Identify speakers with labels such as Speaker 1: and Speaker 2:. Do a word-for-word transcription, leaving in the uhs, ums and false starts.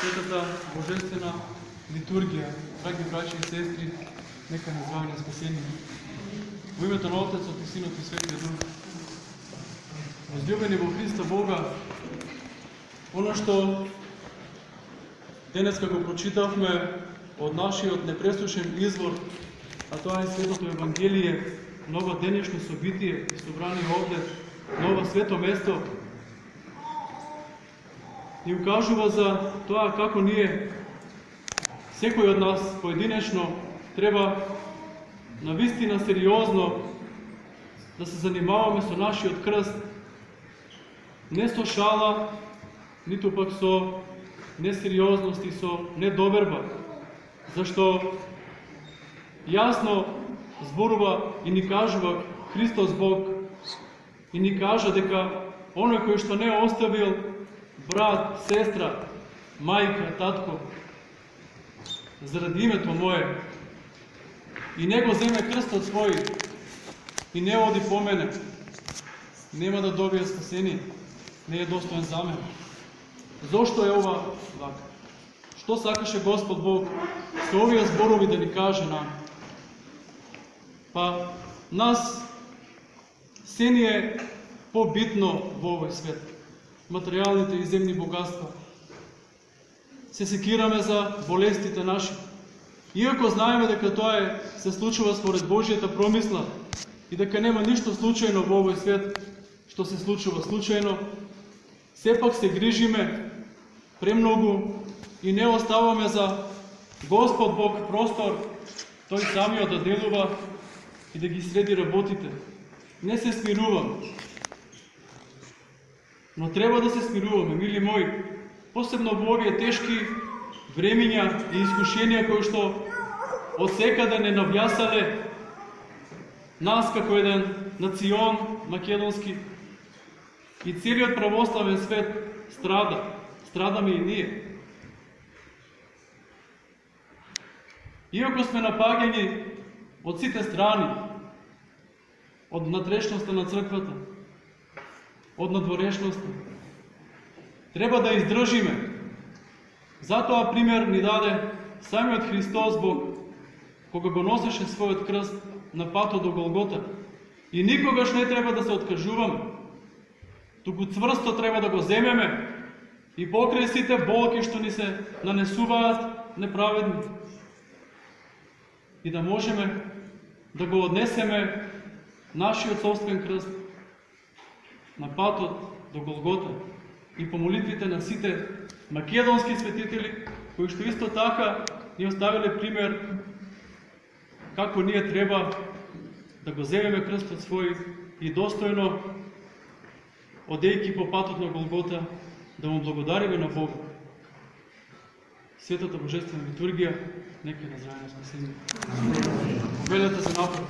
Speaker 1: Светата Божествена литургија, драги браќи и сестри, нека не здравени спасени. Во името на Отецот и Синот и Светиот Дух. Возлюбени во Христа Бога, оно што денеска го прочитавме од нашиот непресушен извор, а тоа е Светото Евангелие, нова денешно собитие, собрани овде, ново свето место, ни укажува за тоа како ние, секој од нас поединечно, треба навистина сериозно да се занимаваме со нашиот крст, не со шала, ниту пак со несериозност и со недоверба, зашто јасно зборува и ни кажува Христос Бог и ни кажа дека оној кој што не оставил брат, сестра, мајка, татко, заради името Мое, и не го земе крстот свој и не оди по мене, нема да добие спасение, не е достоен за мене. Зошто е ова вака? Што сакаше Господ Бог со овие зборови да ни каже нам? Па, нас се ни е побитно во овој свет. Материјалните и земни богатства. Се секираме за болестите наши. Иако знаеме дека тоа е, се случува според Божјата промисла и дека нема ништо случајно во овој свет што се случува случајно, сепак се грижиме премногу и не оставаме за Господ Бог простор, тој самиот да делува и да ги среди работите. Не се смирувам. Но треба да се смируваме, мили мои, посебно во овие тешки времиња и искушенија кои што од секаде не навјасале нас како еден национ македонски и целиот православен свет страда. Страдаме и ние. Иако сме напаѓани од сите страни, од надрешноста на црквата, од надворешноста, треба да издржиме. Затоа пример ни даде самиот Христос Бог, кога го носеше својот крст на патот до Голгота. И никогаш не треба да се откажуваме, туку цврсто треба да го земеме и покрај сите болки што ни се нанесуваат неправедни. И да можеме да го однесеме нашиот собствен крст на патот до Голгота и по молитвите на сите македонски светители, кои што исто така ни оставиле пример како ние треба да го земеме крстот свој и достојно, одејќи по патот на Голгота, да му благодариме на Бога. Светата Божествена литургија, нека на заедно спасение. Велете се напред.